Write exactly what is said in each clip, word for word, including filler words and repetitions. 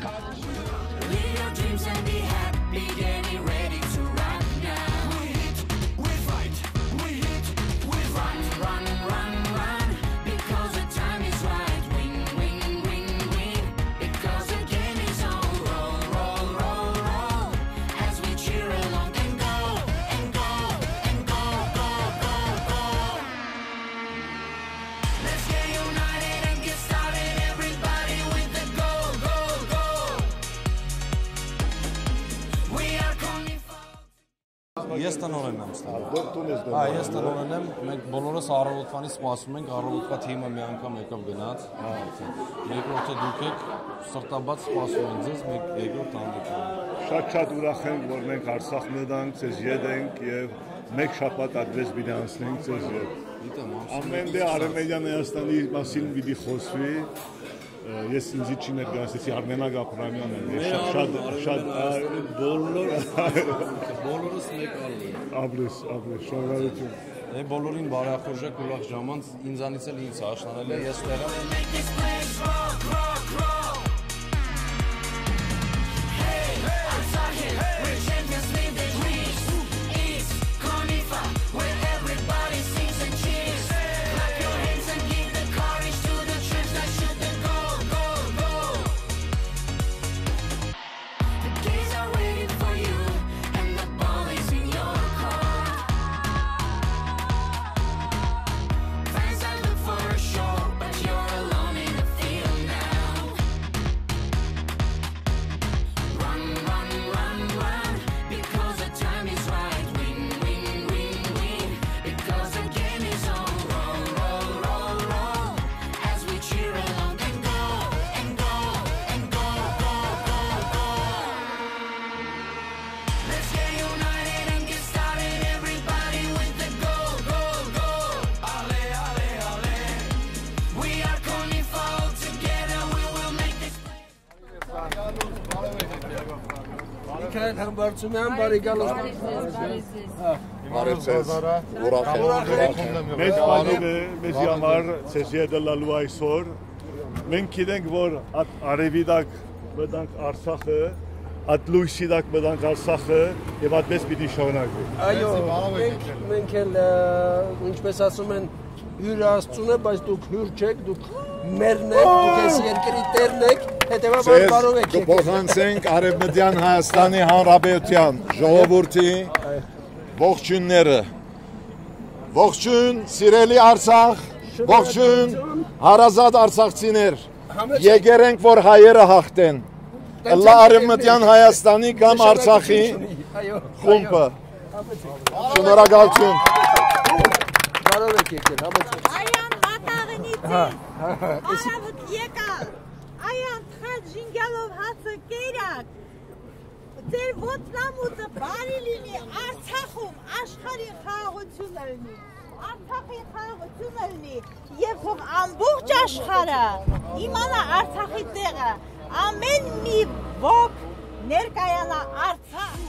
Leave your dreams and be happy, getting ready to run now. We hit, we fight, we fight. Run, run, run, run, because the time is right. Win, win, win, win, because the game is on. Roll, roll, roll, roll, as we cheer along and go, and go, and go, go, go, go. Let's get united and get started, everybody, with the go, go, go. We are coming for Ես տնօրենն եմ, Ստեփան։ Ա, դու, դու ես Հա, տնօրեն։ Ես տնօրենն եմ, մենք բոլորս առավոտվանից սպասում ենք, առավոտվա թիմը մի անգամ եկավ գնաց։ Ա, Երկրորդը դուք եք, սրտաբաց սպասում ենք ձեզ, մեկ երկրորդ հանդիպում։ Շատ շատ ուրախ ենք, որ մենք Արցախ մտանք, ձեզ ետ ենք եւ մեկ շաբաթ այդպես պիտի անցնենք ձեզ ետ։ Գիտեմ, ամսում Ամեն եք դե ինչ Արևմտյան Հայաստանի մասին պիտի խոսվի։ Ես ինձի չի ներկայացնեցի, Արմենակ Աբրահամեան է։ Ես շատ, շատ, շատ, Արմեն Արմեն բոլոր, բոլորս մեկ ալլի։ Ապրես, ապրես, շնորհակալություն։ Է, բոլորին բարեախորժակ, ուրախ ժամանց, ինձանից էլ ինձ հաշնանել է, ես տեղը Make this place rock, rock, rock. Hey, Asahi, where champions leave the grease. It's Khalifa, where everybody sings and cheers. Clap your hands and give the courage to the troops that shoot the goal, goal, goal. The games are waiting for you, and the ball is in your court. Fans that look for a show, but you're alone in the field now. Run, run, run, run, because the time is right. Win, win, win, win, because the game is on. Roll, roll, roll, roll, as we cheer along and go, and go, and go, go, go, go. Let's get united and get started, everybody, with the go, go, go. Ale, ale, ale. We are coming forward together, we will make this place. Միքայել Համբարձումեան, բարի գալուստ։ Բարի ձեզ, ուրախ եմ, ուրախ եմ։ Մեծ պատիվ է մեզի համար ձեզ ետ ըլլալու այսօր։ Մենք գիտենք, որ այդ արևի տակ մտանք Արցախը, այդ լույսի տակ մտանք Արցախը, եւ այդպես պիտի շարունակվի։ Այո, մենք, մենք էլ, ը, ինչպես ասում են, հիւրը Աստծուն է, բայց դուք հիւր չեք, դուք մերն եք, դուք այս երկրի տերն եք, հետեւաբար Ձեզ բարով եք եկել։ կփոխանցենք Արևմտյան Հայաստանի Հանրապետության ժողովրդի ողջույնները։ Ողջույն, սիրելի Արցախ, ողջույն, հարազատ արցախցիներ։ Եկեր ենք, որ հայերը հաղթեն։ Ըլլա Արևմտյան Հայաստանի կամ Արցախի Այո, խումբը։ Շնորհակալություն։ Բարով եք եկել, համեցեք։ Այան վատաղնի Հա, ձեզ։ հա, հա, էսի- Արավուտ եկալ, այան թխած ժինգալով հացը կերակ, ձեր ոտնամուտը բարի լինի, Արցախում աշխարհի խաղաղություն ըլնի, Արցախի խաղաղություն ըլնի, եւ թող ամբողջ աշխարհը իմանա Արցախի տեղը, ամեն մի ոք ներկայանա Արցախ։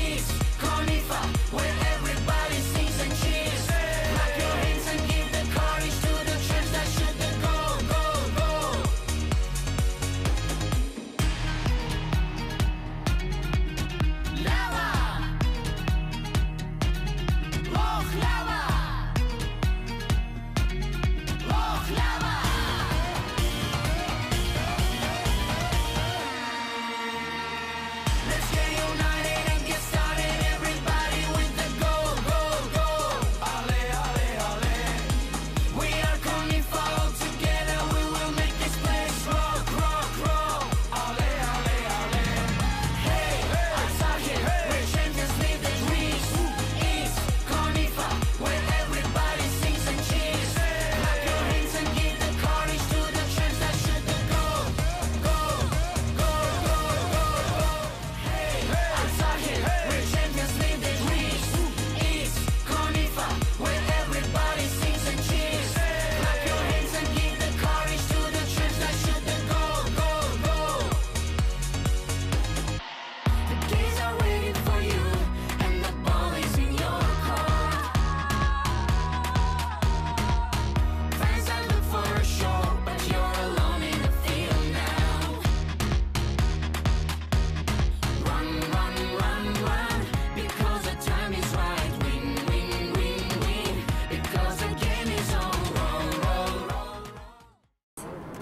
It's Khalifa, where everybody sings and cheers. Clap your hands and give the courage to the troops that shoot the goal, goal, goal. Lava! Loch lava! Loch lava! Let's get united and get started, everybody, with the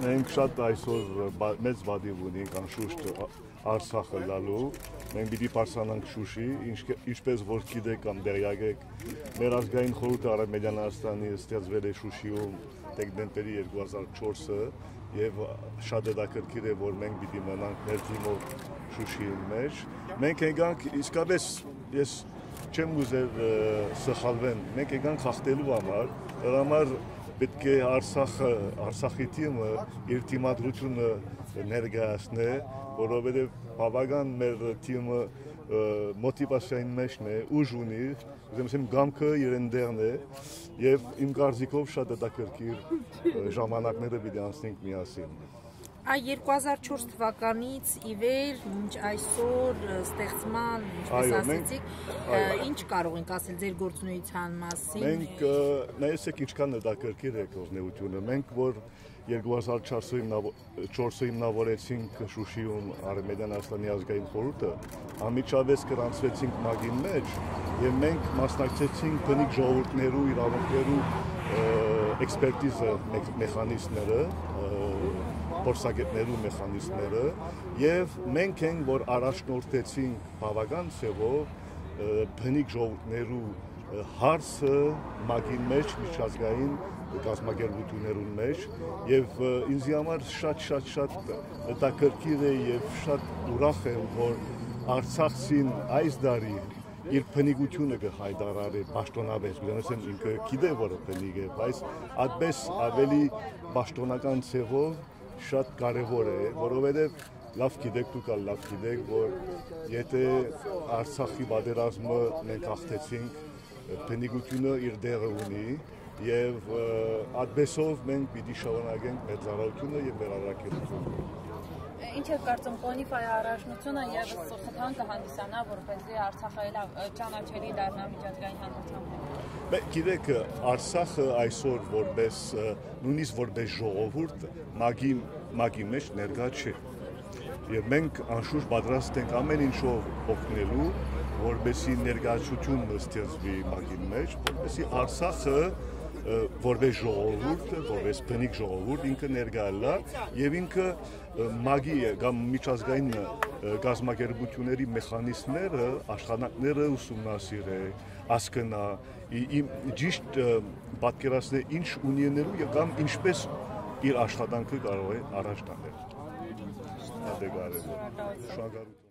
Մենք շատ այսօր բա-, մեծ պատիւ ունենք, անշուշտ, Ա-, Արցախ ըլլալու։ Մենք պիտի բարձրանանք Շուշի, ինչ-, ինչպես որ գիտեք կամ տեղյակ եք, մեր ազգային խորհուրդը Արեւմտյան Հայաստանի ստեղծվել է Շուշիում դեկտեմբերի երկու հազար չորսը, եւ շատ հետաքրքիր է, որ մենք պիտի մնանք մեր թիմով Շուշիի մեջ։ Մենք եկանք, իսկապես ես չեմ ուզեր, ը, սխալվեմ, մենք եկանք խախտելու համար, դրա համար պիտի Արցախը, Արցախի թիմը իր դիմադրությունը ներկայացնէ, որովհետեւ բավական մեր թիմը, ը, մոտիվացիային մեջն է, ուժ ունի, ուզեմ ասեմ, կամքը իրեն տեղն է, եւ իմ կարծիքով շատ հետաքրքիր, ը, ժամանակները պիտի անցնենք միասին։ Այ երկու հազար չորս թվականից ի վեր, մինչ այսօր, ը, ստեղծման, ինչպես Այո, մենք, ասեցիք, ը, այո։ ինչ կարող ենք ասել ձեր գործունեության մասին։ Մենք, ը, նայեցեք, ինչքան հետաքրքիր է գործունեությունը։ Մենք, որ երկու հազար չորսը հիմնavo-, չորսը հիմնավորեցինք Շուշիում Արեւմտյան Հայաստանի ազգային խորհուրդը, անմիջապես գրանցուեցինք մագին մեջ, եւ մենք մասնակցեցինք բնիկ ժողովուրդներու իրաւունքներու, ը, էքսպերտիզը մեխ-, մեխանիզմները, ը, փորձագետներու մեխանիզմները, եւ մենք ենք, որ առաջնորդեցինք բաւական ձեւով, ը, բնիկ ժողովուրդներու, ը, հարցը մագին մեջ, միջազգային կազմակերպութիւններուն մեջ, եւ, ը, ինձի համար շատ, շատ, շատ հետաքրքիր է եւ շատ ուրախ եմ, որ Արցախցին այս տարի իր բնիկութիւնը կը հայտարարէ պաշտոնապես, գիտեմ, ինքը գիտէ, որ բնիկ է, բայց այդպես ավելի պաշտոնական ձևով շատ կարեւոր է, որովհետեւ լաւ գիտեք, դուք ալ լաւ գիտեք, որ եթե Արցախի պատերազմը մենք հաղթեցինք, բնիկութիւնը իր տեղը ունի, եւ, ը, այդպեսով մենք պիտի շարունակենք մեր ծառայութիւնը եւ մեր առաքելութիւնը։ Ինչ եք կարծում, Կոնիֆայի առաջնությունը եւս խթան կը հանդիսանա, որպեսզի Արցախը ելա, ը, ճանաչելի դառնա միջազգային հանրութեան մէջ։ Բե, գիտեք, Արցախը այսօր որպես, ը, նույնիսկ որպես ժողովուրդ մագի, մագի մեջ ներկայ չէ։ Եւ մենք անշուշտ պատրաստ ենք ամեն ինչով օգնելու, որպեսզի ներկայացութիւն ստեղծուի մագի մեջ, որպեսզի Արցախը, ը, որպես ժողովուրդ, որպես բնիկ ժողովուրդ ինքը ներկայ ըլլայ եւ ինքը, ը, մագի կամ միջազգային, ը, կազմակերպութիւնների մեխանիզմները, աշխատանքները ուսումնասիրէ, հասկնայ, ի-, ի-, ճիշտ, ը, պատկերացնէ ինչ ունի ընելու եւ կամ ինչպես իր աշխատանքը կարող է առաջ տանել։ Շատ է կարեւոր։ Շնորհակալություն։